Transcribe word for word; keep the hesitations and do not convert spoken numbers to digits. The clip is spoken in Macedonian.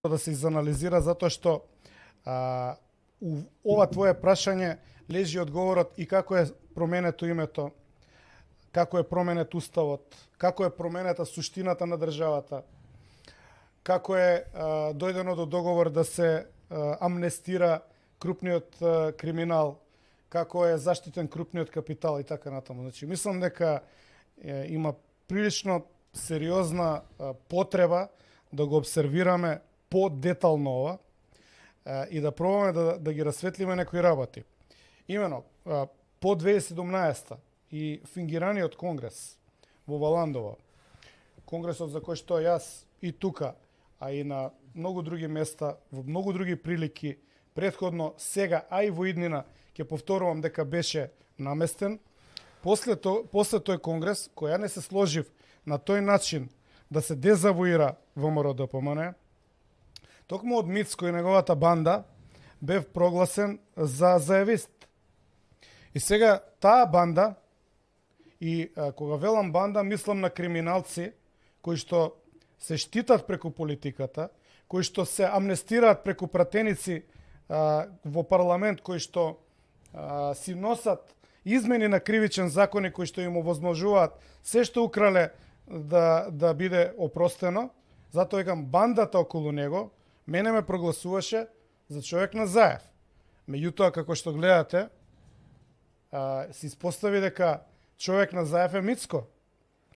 да се изанализира, затоа што а, у ова твое прашање лежи одговорот и како е променето името, како е променет уставот, како е променета суштината на државата, како е а, дојдено до договор да се а, амнестира крупниот а, криминал, како е заштитен крупниот капитал и така натаму. Значи, мислам дека е, има прилично сериозна а, потреба да го обсервираме по-детално ова а, и да пробаме да, да ги расветлиме некои работи. Имено, а, по две тисячи и седумнаесета и фингираниот конгрес во Валандово, конгресот за кој што јас и тука, а и на многу други места, во многу други прилики, предходно, сега, а и во иднина, ќе повторувам дека беше наместен. После, то, после тој конгрес, кој ја не се сложив на тој начин да се дезавуира ВМРО Д П М Н, токму од Мицко и неговата банда бев прогласен за заевист. И сега таа банда, и а, кога велам банда, мислам на криминалци кои што се штитат преку политиката, кои што се амнестираат преку пратеници а, во парламент, кои што а, си носат измени на кривичен закони кои што им овозможуваат се што украле да, да биде опростено. Затоа викам, бандата околу него мене ме прогласуваше за човек на Заев. Меѓутоа, како што гледате, а, се испостави дека човек на Заев е Мицко.